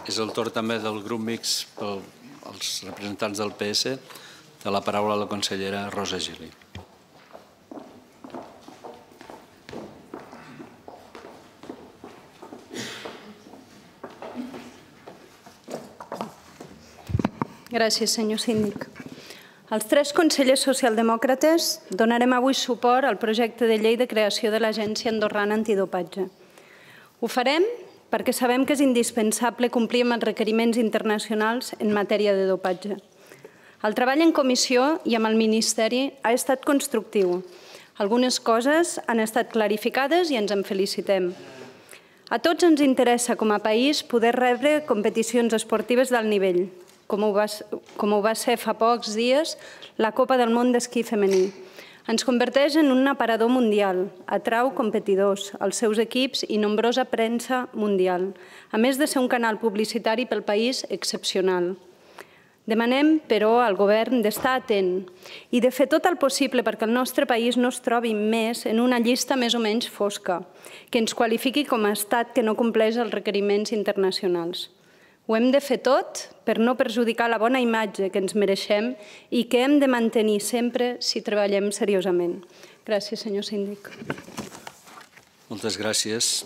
És el torn també del grup mixt pels representants del PS. De la paraula a la consellera Rosa Gili. Gràcies, senyor síndic. Els 3 consellers socialdemòcrates donarem avui suport al projecte de llei de creació de l'Agència Andorrana Antidopatge. Ho farem perquè sabem que és indispensable complir amb els requeriments internacionals en matèria de dopatge. El treball en comissió i amb el Ministeri ha estat constructiu. Algunes coses han estat clarificades i ens en felicitem. A tots ens interessa com a país poder rebre competicions esportives d'alt nivell, com ho va ser fa pocs dies la Copa del Món d'esquí femení. Ens converteix en un aparador mundial, atrau competidors, els seus equips i nombrosa premsa mundial, a més de ser un canal publicitari pel país excepcional. Demanem, però, al govern d'estar atent i de fer tot el possible perquè el nostre país no es trobi més en una llista més o menys fosca, que ens qualifiqui com a estat que no compleix els requeriments internacionals. Ho hem de fer tot per no perjudicar la bona imatge que ens mereixem i que hem de mantenir sempre si treballem seriosament. Gràcies, senyor síndic. Moltes gràcies.